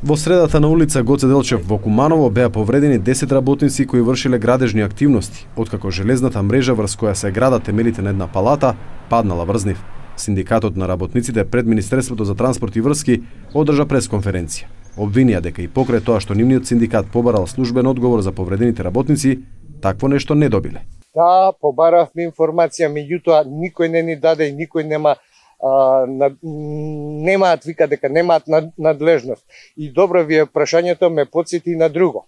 Во средата на улица Гоце Делчев во Куманово беа повредени 10 работници кои вршиле градежни активности, откако железната мрежа врз која се градат темелите на една палата паднала врз нив. Синдикатот на работниците пред Министерството за транспорт и врски одржа пресконференција. Обвинија дека и покрај тоа што нивниот синдикат побарал службен одговор за повредените работници, такво нешто не добиле. Да, побаравме информација, меѓутоа никој не ни даде и никој немаат вика дека немаат надлежност. И добро ви е прашањето, ме потсети на друго.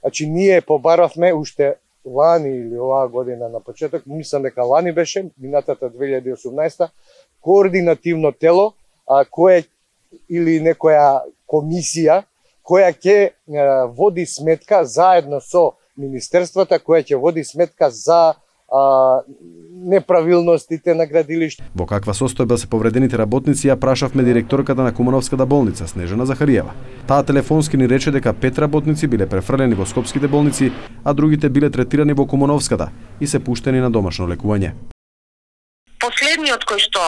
Значи ние побаравме уште лани или оваа година на почеток, мислам дека лани беше, минатата 2018, координативно тело кое или некоја комисија која ќе води сметка заедно со министерствата, која ќе води сметка за неправилностите на градилиште. Во каква состојба се повредените работници ја прашавме директорката на Кумановската болница Снежана Захариева. Таа телефонски ни рече дека 5 работници биле префрлени во скопските болници, а другите биле третирани во Кумановската и се пуштени на домашно лекување. Последниот кој што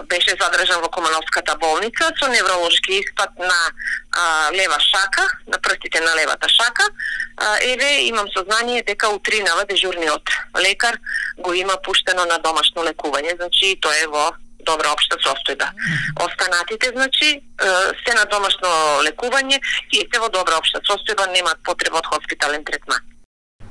беше задржан во Кумановската болница со невролошки испад на лева шака, на прстите на левата шака, имам сознание дека утринава дежурниот лекар го има пуштено на домашно лекување, значи тоа е во добра општа состојба. Останатите, значи, се на домашно лекување и се во добра општа состојба, немаат потреба од хоспитален третман.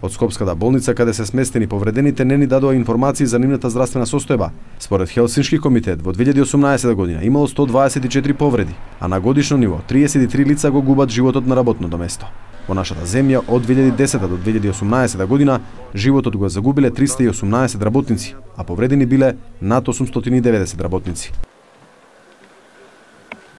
Од Скопската болница, каде се сместени повредените, не ни дадоа информации за нивната здравствена состојба. Според Хелсиншки комитет, во 2018 година имало 124 повреди, а на годишно ниво 33 лица го губат животот на работното место. Во нашата земја од 2010 до 2018 година животот го загубиле 318 работници, а повредени биле над 890 работници.